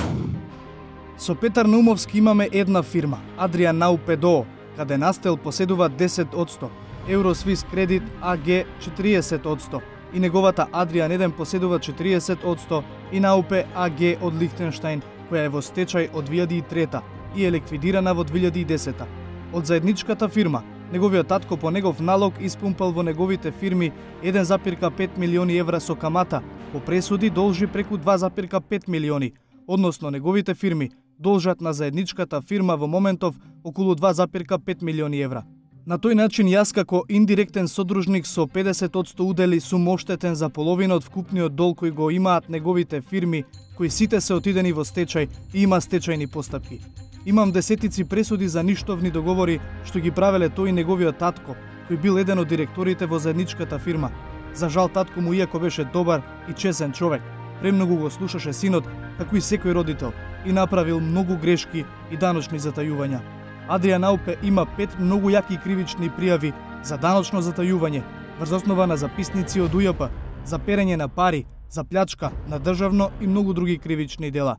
Со Петар Наумовски имаме една фирма, Адријан Наупе ДОО, каде Настел поседува десет одсто, Euroswiss Credit А Г четириесет одсто и неговата Adrian еден поседува четириесет одсто и Наупе А Г од Лихтенштајн, која е во стечај од две илјади и трета и е ликвидирана во две илјади и десета. Од заедничката фирма, неговиот татко по негов налог испумпал во неговите фирми еден запирка пет милиони евра со камата, по пресуди должи преку два запирка пет милиони, односно неговите фирми должат на заедничката фирма во моментов околу два запирка пет милиони евра. На тој начин јас како индиректен содружник со педесет одсто удели сум оштетен за половина од вкупниот дол кој го имаат неговите фирми, кои сите се отидени во стечај и има стечајни постапки. Имам десетици пресуди за ништовни договори што ги правеле тој и неговиот татко, кој бил еден од директорите во заедничката фирма. За жал татко му, иако беше добар и чесен човек, премногу го слушаше синот, како и секој родител, и направил многу грешки и даночни затајувања. Адриан Наупе има пет многу јаки кривични пријави за даночно затајување, врз основа на записници од У Ј П, за перење на пари, за плячка на државно и многу други кривични дела.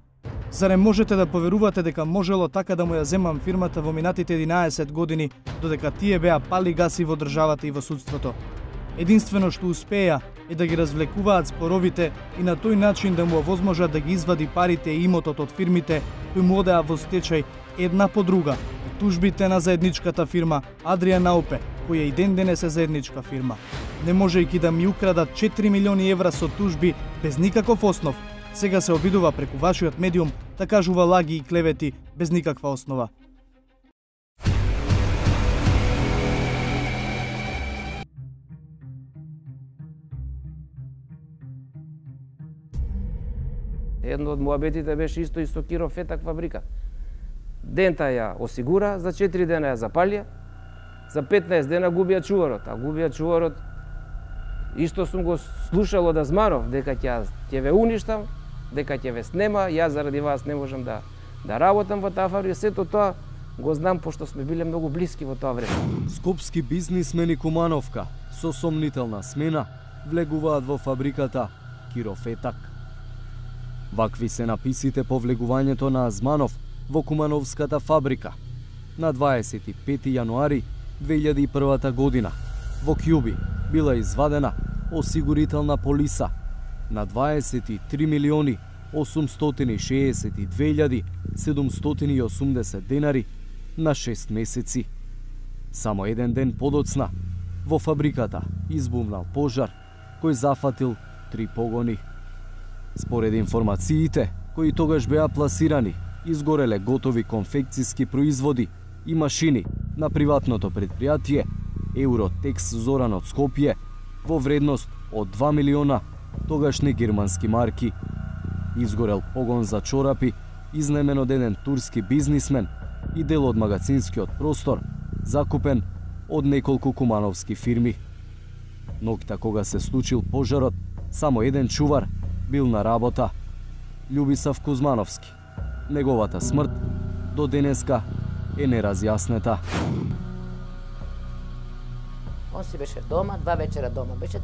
Зарем можете да поверувате дека можело така да му ја земам фирмата во минатите единаесет години, додека тие беа пали гаси во државата и во судството? Единствено што успеа е да ги развлекуваат споровите и на тој начин да му овозможат да ги извади парите и имотот од фирмите кои му одеа во стечај една по друга. Тужбите на заедничката фирма Адриан Наупе, која и ден денес е заедничка фирма. Не можејќи да ми украдат четири милиони евра со тужби без никаков основ, сега се обидува преку вашиот медиум да кажува лаги и клевети без никаква основа. Едно од муабетите беше исто и со Киро Фетак фабрика. Дента ја осигура, за четири дена ја запалија, за петнаесет дена губија чуварот, а губија чуварот исто сум го слушал од Азманов дека ќе ќе ве уништам, дека ќе ве снема, јас заради вас не можам да да работам во таа фабрика, сето тоа го знам пошто сме биле многу блиски во тоа време. Скопски бизнисмени Кумановка со сомнителна смена влегуваат во фабриката Киро Фетак. Вакви се написите по влегувањето на Азманов во Кумановската фабрика. На дваесет и пети јануари две илјади и прва година во Кјуби била извадена осигурителна полиса на дваесет и три милиони осумстотини шеесет и две илјади седумстотини и осумдесет денари на шест месеци. Само еден ден подоцна во фабриката избумнал пожар кој зафатил три погони. Според информациите кои тогаш беа пласирани, изгореле готови конфекцијски производи и машини на приватното предпријатие Евротекс Зоран од Скопје во вредност од два милиона тогашни германски марки. Изгорел погон за чорапи, изнемен од еден турски бизнисмен и дел од магазинскиот простор, закупен од неколку кумановски фирми. Ноќта кога се случил пожарот, само еден чувар бил на работа. Љубисав Кузмановски. Неговата смрт до денеска е неразјаснета. Он си беше дома, два вечера дома. Беше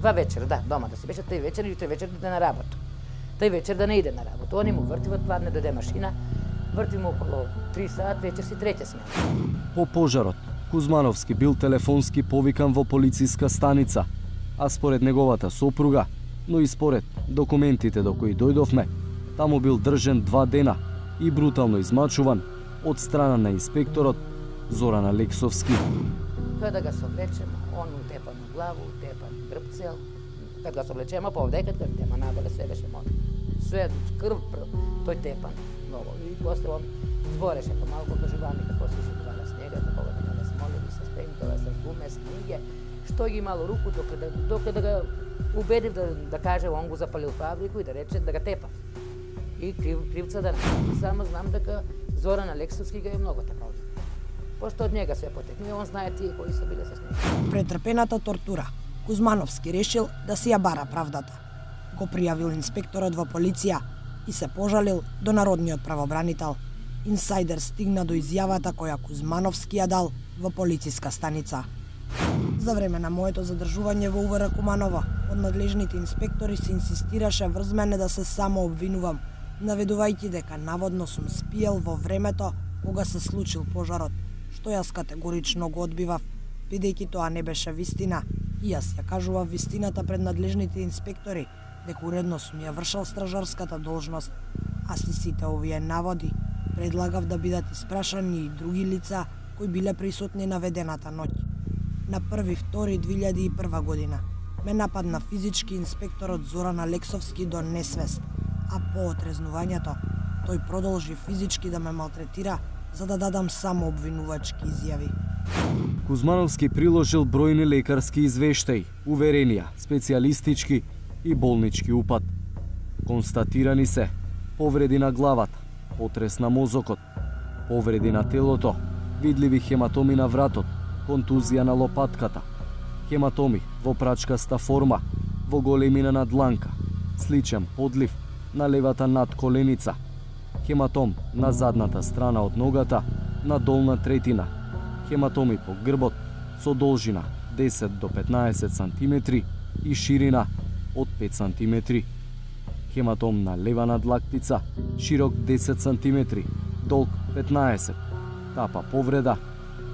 два вечера, да, дома да си беше тој вечер и тој вечер да иде на работа. Тој вечер да не иде на работа. Они му вртиват, падне дојде машина, врти му околу три саат, вечер си треќа смена. По пожарот, Кузмановски бил телефонски повикан во полициска станица, а според неговата сопруга, но и според документите до кои дојдовме, таму бил држен два дена и брутално измачуван од страна на инспекторот Зоран Алексовски. Тоа да го совлечем, он утепан на главу, утепан грбцел. Кад го совлечемо по овдекат, кад тема надоле се беше мој. Све крв, тој тепан ново. И после он збореше помалку, кажуваме како се живувала снега, како го менале смолеви со спентова, со гуме, с книге, што ги имало руку, докаде, докаде го убедив да, да каже, он го запалил фабрику и да рече да го тепа. И крив, кривца да не. Само знам дека Зоран Алексовски го е многу тепал. Пошто од njega се потекне, он знае тие кои се биле со него. Претрпената тортура. Кузмановски решил да си ја бара правдата. Го пријавил инспекторот во полиција и се пожалил до народниот правобранител. Инсайдер стигна до изјавата која Кузмановски ја дал во полициска станица. За време на моето задржување во У В Р Куманово, од надлежните инспектори се инсистираше врз мене да се само обвинувам, наведувајќи дека наводно сум спиел во времето кога се случил пожарот, што јас категорично го одбивав, Бидејќи тоа не беше вистина, и јас ја кажував вистината пред надлежните инспектори, дека уредно сум ја вршал стражарската должност, а си сите овие наводи предлагав да бидат испрашани и други лица кои биле присутни наведената ноќ. На први втори две илјади и прва година ме нападна физички инспекторот Зоран Алексовски до несвест, а по отрезнувањето тој продолжи физички да ме малтретира за да дадам само обвинувачки изјави. Кузмановски приложил бројни лекарски извештаи, уверенија, специјалистички и болнички упат. Констатирани се повреди на главата, потрес на мозокот, повреди на телото, видливи хематоми на вратот, контузија на лопатката, хематоми во прачкаста форма, во големина на дланка, сличен подлив на левата надколеница, хематом на задната страна од ногата, на долна третина, хематоми по грбот со должина десет до петнаесет сантиметри и ширина од пет сантиметри. Хематом на лева надлактица, широк десет сантиметри, долг петнаесет. Тапа повреда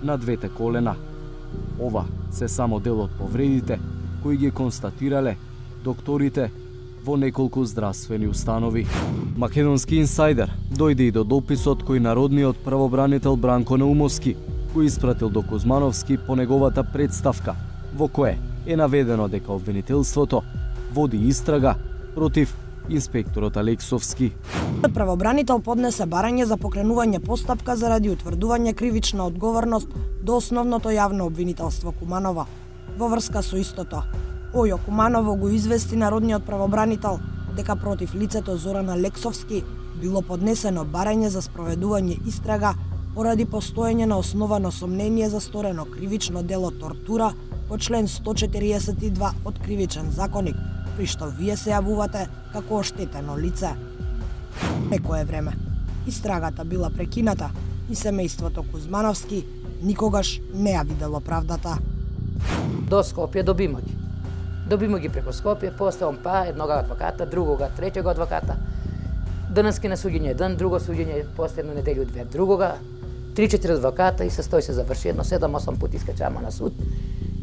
на двете колена. Ова се само дел од повредите кои ги констатирале докторите во неколку здравствени установи. Македонски инсайдер дојде и до дописот кој народниот правобранител Бранко Наумовски го испратил до Кузмановски по неговата представка, во кое е наведено дека обвинителството води истрага против инспекторот Алексовски. Правобранител поднесе барање за покренување постапка заради утврдување кривична одговорност до основното јавно обвинителство Куманово. Во врска со истото, Ојо Куманово го извести народниот правобранител дека против лицето Зоран Алексовски било поднесено барање за спроведување истрага поради постоење на основано сомнение за сторено кривично дело тортура по член сто четириесет и два од Кривичен законник, при што вие се јавувате како оштетено лице. Некое време, истрагата била прекината и семејството Кузмановски никогаш не ја видело правдата. До Скопје добимо ги. Добимо ги преку Скопје, после он па еднога адвоката, другога, третјога адвоката. Денески на суѓење еден, друго суѓење, после една неделја две другога, три-четири адвоката и се стои се заврши едно седам-осам пати искачама на суд.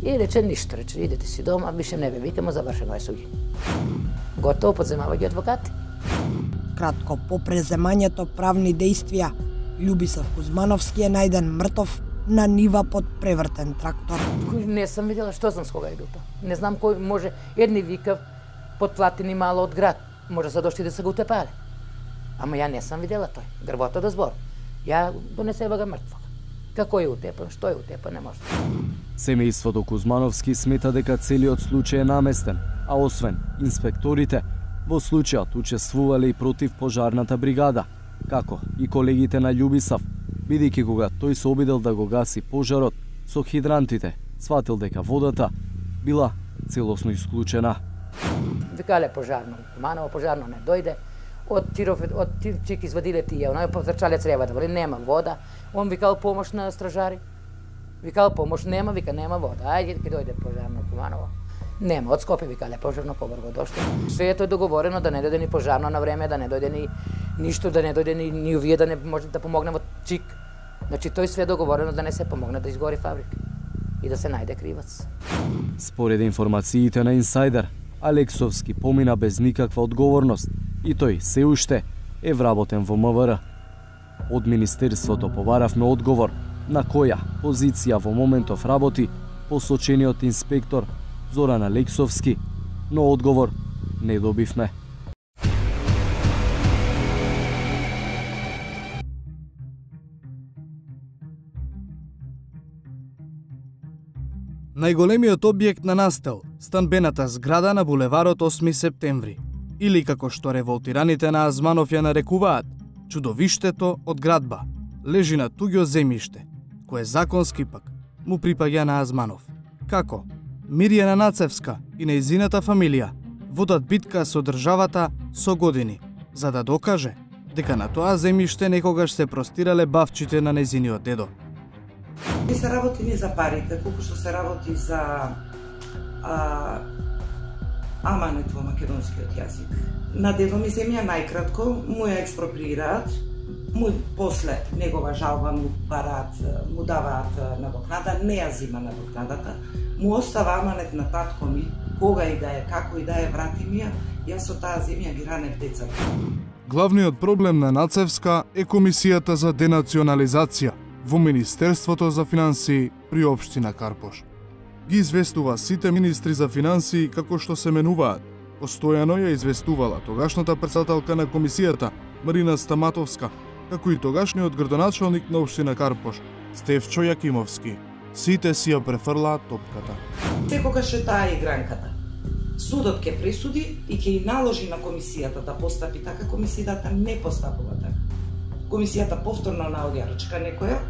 И рече ништо, рече идете си дома, више не ве викамо, завршено е суѓење. Готово, подземава ги адвокати. Кратко по преземањето правни действија, Љубисав Кузмановски е најден мртов на нива под превртен трактор. Не сам видела, што знам с кога е бил тоа. Не знам кој може, едни викав подплатени мало од град, може се дошли да се го утепале. Ама ја не сам видела тој, грбото да збор. Ја донесева га мртвог. Како е утепан, што е утепан, не може. Семејството Кузмановски смета дека целиот случај е наместен, а освен инспекторите, во случајот учествувале и против пожарната бригада, како и колегите на Љубисав, бидејќи кога тој се обидел да го гаси пожарот со хидрантите, сватил дека водата била целосно исклучена. Викале пожарно, Куманово пожарно не дојде, од тиров, од чик извадиле тие, оној позрчале цревата, вели нема вода, он викал помош на стражари, викал помош нема, вика нема вода, ајде ќе дојде пожарно Куманово. Нема, од Скопје викале пожарно, побрго дошло. Све е договорено да не дојде ни пожарно на време, да не дојде ни ништо, да не дојде ни, ни овие да не може да помогне во чик. Значи тој све е договорено да не се помогне да изгори фабрика и да се најде кривац. Според информациите на инсайдер, Алексовски помина без никаква одговорност и тој се уште е вработен во М В Р. Од Министерството побаравме одговор на која позиција во моментов работи посочениот инспектор Зоран Алексовски, но одговор не добивме. Најголемиот објект на настел, станбената зграда на булеварот осми септември, или како што револтираните на Азманов ја нарекуваат, чудовиштето од градба, лежи на туѓо земјиште, кое законски пак му припаѓа на Азманов. Како? Мирјана Нацевска и нејзината фамилија водат битка со државата со години, за да докаже дека на тоа земјиште некогаш се простирале бавчите на нејзиниот дедо. Не се работи ни за парите, колку што се работи за а, аманет во македонскиот јазик. На дедо ми земја најкратко му ја експроприираат, му после негова жалба му бараат, му даваат надокнада, не ја зима надокнадата, му остава аманет на татко ми, кога и да е, како и да е, врати ми ја, јас со таа земја ги ранев децата. Главниот проблем на Нацевска е Комисијата за денационализација во Министерството за финансии при општина Карпош. Ги известува сите министри за финансии како што се менуваат. Постојано ја известувала тогашната претседателка на комисијата Марина Стаматовска, како и тогашниот градоначалник на општина Карпош Стефчо Јакимовски. Сите си ја префрлаат топката. Секогаш е таа игранката. Судот ќе пресуди и ќе и наложи на комисијата да постапи така, комисијата не постапува така. Комисијата повторно наоѓа рачка некоја,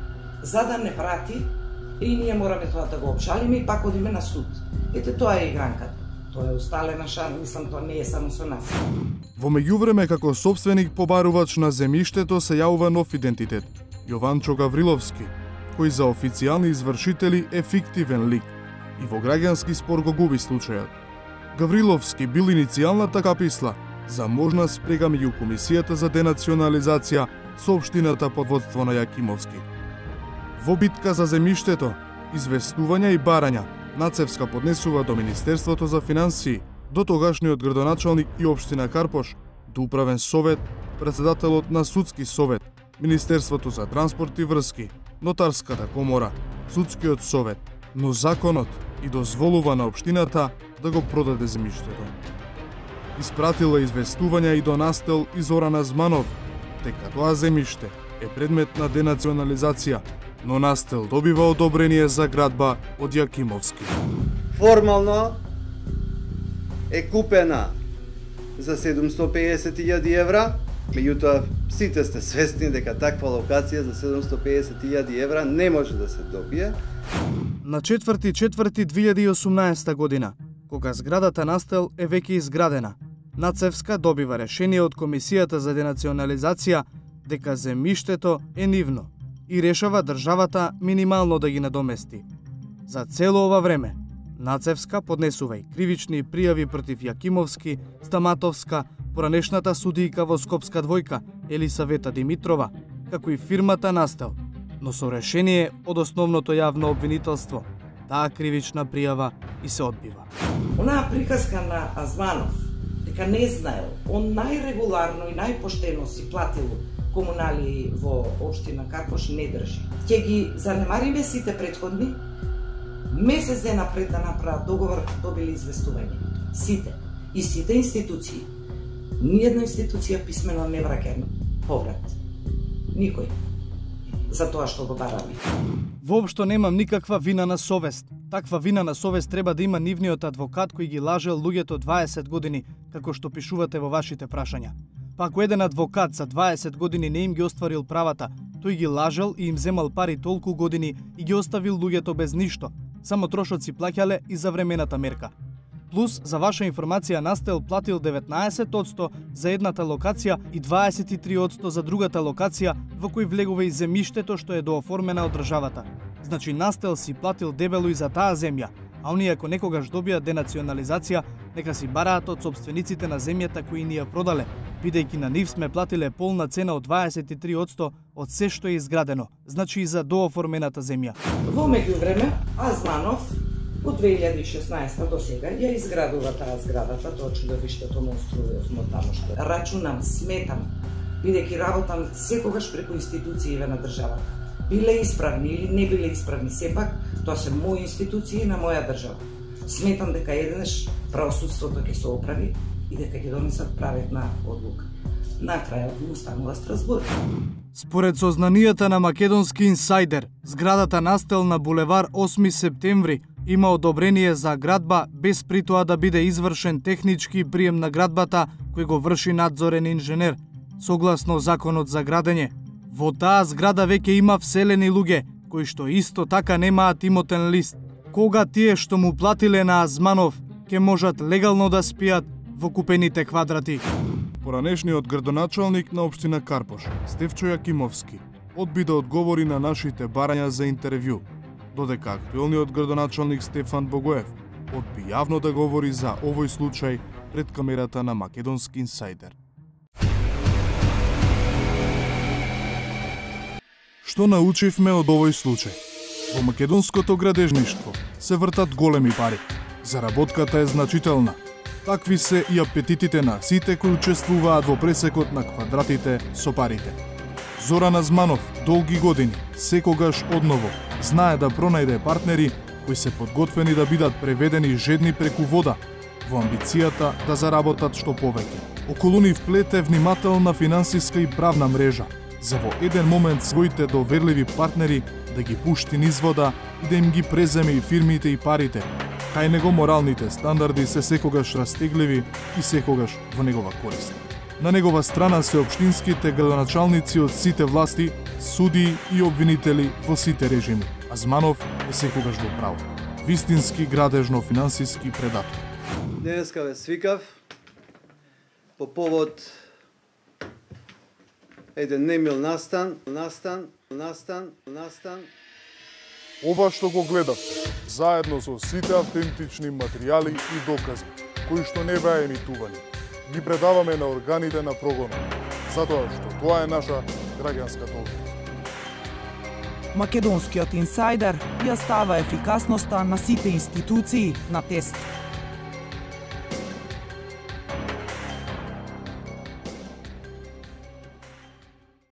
за да не врати, и ние мораме тоа да го обжалиме и пак одиме на суд. Ете, тоа е игранката. Тоа е усталена шан, мислам, тоа не е само со нас. Во меѓувреме, како сопственик побарувач на земјиштето се јавува нов идентитет – Јованчо Гавриловски, кој за официјални извршители е фиктивен лик и во граѓански спор го губи случајот. Гавриловски бил иницијалната каписла за можна спрега меѓу Комисијата за денационализација со општината под водство на Јакимовски. Во битка за земјиштето, известувања и барања, Нацевска поднесува до Министерството за финансии, до тогашниот градоначалник и општина Карпош, до Управен совет, председателот на Судски совет, Министерството за транспорт и врски, Нотарската комора, Судскиот совет, но законот и дозволува на општината да го продаде земјиштето. Испратила известувања и до Настел и Зорана Зманов, дека тоа земјиште е предмет на денационализација, но Настел добива одобрение за градба од Јакимовски. Формално е купена за седумстотини и пеесет илјади евра, меѓутоа сите сте свесни дека таква локација за седумстотини и пеесет илјади евра не може да се добие. На четврти четврти две илјади и осумнаесета година, кога зградата Настел е веќе изградена, Нацевска добива решение од Комисијата за денационализација дека земјиштето е нивно и решава државата минимално да ги надомести. За цело ова време, Нацевска поднесува и кривични пријави против Јакимовски, Стаматовска, поранешната судијка во Скопска двојка Елисавета Димитрова, како и фирмата Настел, но со решение од основното јавно обвинителство, таа кривична пријава и се одбива. Онаа приказка на Азманов, дека не знаел, он најрегуларно и најпоштено си платил комунали во општина Карпош, не држи. Ќе ги занемариме сите претходни, месец дена пред да направат договор, добили известување. Сите. И сите институции. Ниједна институција писмено не враќа поврат. Никој. За тоа што го бараме. Воопшто немам никаква вина на совест. Таква вина на совест треба да има нивниот адвокат кој ги лажел луѓето дваесет години, како што пишувате во вашите прашања. Па ако еден адвокат за дваесет години не им ги остварил правата, тој ги лажел и им земал пари толку години и ги оставил луѓето без ништо. Само трошоци плаќале и за времената мерка. Плюс, за ваша информација, Настел платил деветнаесет одсто за едната локација и дваесет и три одсто за другата локација во кој влегува и земјиштето што е дооформена од државата. Значи Настел си платил дебело и за таа земја, а оние ако некогаш добијат денационализација, нека си бараат од сопствениците на земјата кои ни ја продале, бидејќи на нив сме платиле полна цена од дваесет и три одсто од се што е изградено, значи и за дооформената земја. Во меѓувреме, Азманов од две илјади и шеснаесета до сега ја изградува таа зградата, тоа чудовиштето монструозно тамошто. Рачунам, сметам, бидејќи работам секогаш преку институциите на државата. Биле исправни или не биле исправни, сепак тоа се мои институции на моја држава. Сметам дека еднаш правосудството ќе се оправи и дека ќе донесат праведна одлука. На крајот му станува Страсбург. Според сознанијата на македонски инсайдер, зградата Настел на булевар осми септември има одобрение за градба без при тоа да биде извршен технички прием на градбата кој го врши надзорен инженер, согласно законот за градење. Во таа зграда веќе има вселени луѓе, кои што исто така немаат имотен лист. Кога тие што му платиле на Азманов ќе можат легално да спијат во купените квадрати? Поранешниот градоначалник на општина Карпош, Стефчо Јакимовски, одби да одговори на нашите барања за интервју, додека актуелниот градоначалник Стефан Богоев одби јавно да говори за овој случај пред камерата на Македонски инсайдер. Што научивме од овој случај? Во македонското градежништво се вртат големи пари. Заработката е значителна. Такви се и апетитите на сите кои учествуваат во пресекот на квадратите со парите. Зоран Азманов долги години, секогаш одново, знае да пронајде партнери кои се подготвени да бидат преведени жедни преку вода, во амбицијата да заработат што повеќе. Околу нив плете внимателна финансиска и правна мрежа, за во еден момент своите доверливи партнери да ги пушти низ вода и да им ги преземе и фирмите и парите. Кај него моралните стандарди се секогаш растегливи и секогаш во негова корист. На негова страна се општинските градоначалници од сите власти, судии и обвинители во сите режими. Азманов е секогаш во право. Вистински градежно-финансиски предатор. Денеска ве свикав по повод еден немил настан, настан, настан, настан. Ова што го гледавте, заедно со сите автентични материјали и докази, кои што не беа емитувани, ги предаваме на органите на прогонот, затоа што тоа е наша граѓанска должност. Македонскиот инсайдер ја става ефикасноста на сите институции на тест.